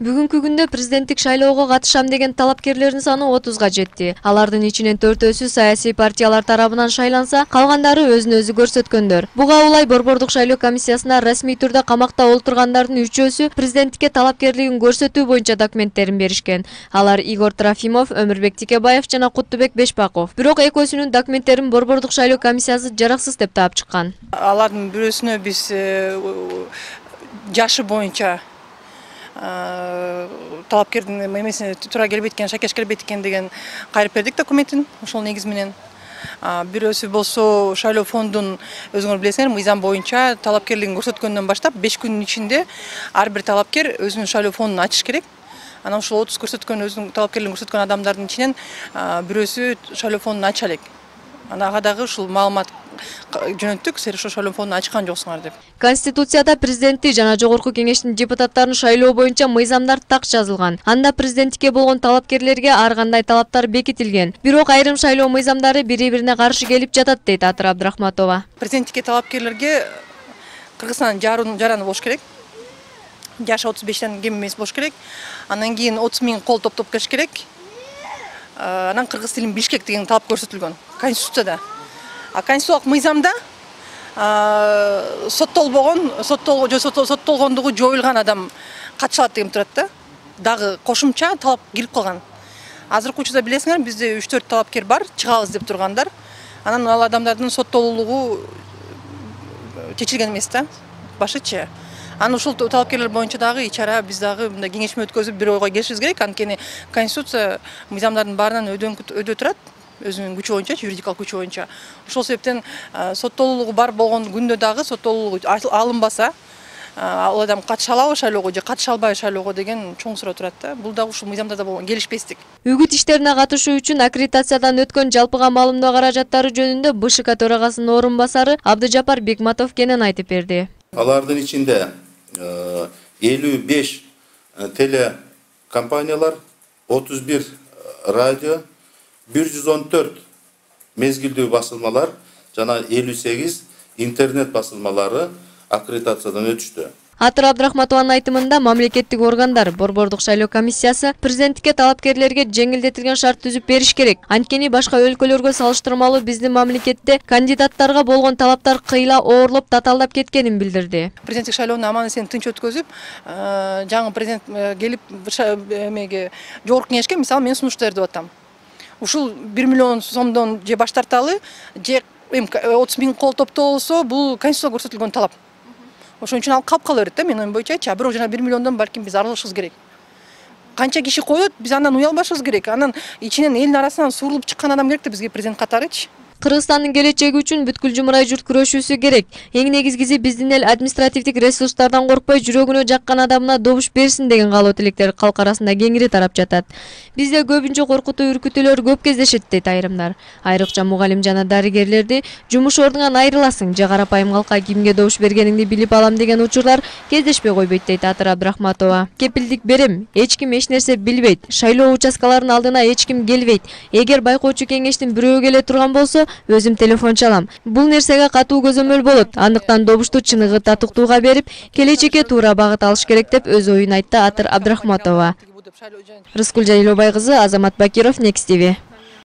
Бүгүнкү күндө президенттик шайлоого катышам деген талапкерлердин саны 30га жетти. Алардын ичинен 4-өсү саясий партиялар тарабынан шайланса, калгандары өзүн өзү көрсөткөндөр. Буга улай Борбордук шайлоо комиссиясына расмий түрдө камакта олтургандардын 3-өсү президенттикке талапкерлигин көрсөтүү боюнча документтерин беришкен. Алар Игорь Трофимов, Өмүрбек Тикебаев жана Куттубек Бешбаков. Бирок экөөсүнүн документтерин Борбордук шайлоо комиссиясы жараксыз деп таап чыккан. Алардын бирөөсүнө биз жашы боюнча талапкердин эмесине туура келбейт экен, шакеш келбейт экен деген кайрып бердик документин. Ошол негиз менен бирөөсү болсо шайлоо фондун өзүңөр билесиңер, мыйзам боюнча талапкерлигин көрсөткөндөн баштап 5 күнүн ичинде ар бир талапкер өзүнүн шайлоо фондун ачыш керек. Анан ушул 30 көрсөткөн өзүнүн талапкерлигин көрсөткөн адамдардын ичинен бирөөсү шайлоо фондун ача элек. Ага дагы ушул маалымат жөнөттүк, силер ошол шайлоо фондун ачкан жоксуңар деп. Конституцияда президенtti жана жогорку кеңештин депутаттарын шайлоо боюнча мыйзамдар так жазылган. Анда президенттикке болгон талапкерлерге ар кандай талаптар бекитилген. Бирок айрым шайлоо мыйзамдары бири-бирине каршы келип жатат дейт Атыр Абдрахматова. Президенттикке талапкерлерге Кыргызстандын жараны болуш керек. Жашы 35тен кем эмес болуш керек. Андан кийин 30 000 кол топтоп келиш керек. Анан кыргыз тилин билиш керек деген талап көрсөтүлгөн Конституцияда. Конституциялык мыйзамда соттолгондугу жоюлган адам катыша алат деген турат да. Дагы кошумча талап кирип калган. Азыркы учурда билесиңер, бизде 3-4 талапкер бар, чыгабыз деп тургандар. Анан ал адамдардын соттолуулугу чечилген эмес да, башычы. Анан ушул талапкерлер боюнча дагы ичара биз дагы мындай кеңешме өткөзүп бир ойго келишибиз керек. Анткени Конституция мыйзамдардын баарынан өдө турат, өзүнүн күчү боюнча, юридикалык күчү боюнча. Ошол себептен соттолуулугу бар болгон күндө дагы соттолуулугу алынбаса, ал адам катыша алабы шайлоого же катыша албайбы шайлоого деген чоң суроо турат да. Бул дагы ушул мыйзамдарда болгон келишпестик. Үгүт иштерине катышуу үчүн аккредитациядан өткөн жалпыга маалымдоо каражаттары жөнүндө БШК төрагасынын орун басары Абдыжапар Бекматов кенен айтып берди. Алардын ичинде 55 телекомпаниялар, 31 радио, 114 мезгилдүү басылмалар жана 58 интернет басылмалары аккредитациядан өтүштү. Атыр Абдрахматованын айтымында мамлекеттик органдар, Борбордук шайлоо комиссиясы президенттикке талапкерлерге жеңилдетилген шарт түзүп бериш керек. Анткени башка өлкөлөргө салыштырмалуу биздин мамлекетте кандидаттарга болгон талаптар кыйла оорлоп, татаалдап кеткенин билдирди. Президенттик шайлоону аман-эсен тынч өткөзүп, жаңы президент келип эмеге жогорку кеңешке мисалы мен сунуш берип атам. Ушул 1 миллион сомдон же баш тарталы, же 30 000 кол топтоо болсо, бул Конституцияда көрсөтүлгөн талап. Ошон үчүн ал калып кала берет да, менин оюм боюнча. Бирок жана 1 миллиондон балким биз арылышыбыз керек. Канча киши коет, биз андан уялбашыбыз керек. Анан ичинен элдин арасынан сурулуп чыккан адам керек да бизге президент катарычы. Кыргызстандын келечеги үчүн бүткүл жумурай журт күрөшүүсү керек. Эң негизгиси биздин эл административдик ресурстардан коркпой, жүрөгүнө жаккан адамына добуш берсин деген каалоо тилектер калк арасында кеңири тарап жатат. Бизде көбүнчө коркутуу үркүтүүлөр көп кездешет дейт айрымдар. Айрыкча мугалим жана дарыгерлерди жумуш ордуңан айрыласың же карапайым калкка кимге добуш бергениңди билип алам деген учурлар кездешпей койбойт дейт Атыр Абдрахматова. Кепилдик берем, эч ким эч нерсе билбейт. Шайлоо участкаларынын алдына эч ким келбейт. Эгер байкоочу кеңештин бирөө келе турган болсо, өзүм телефон чалам. Бул нерсеге катуу көзөмөл болот. Андыктан добушту чыныгы татыктууга берип, келечекке туура багыт алыш керек деп өз оюн айтты Атыр Абдрахматова. Рыскүл Жайлообай кызы, Азамат Бакиров, Next TV.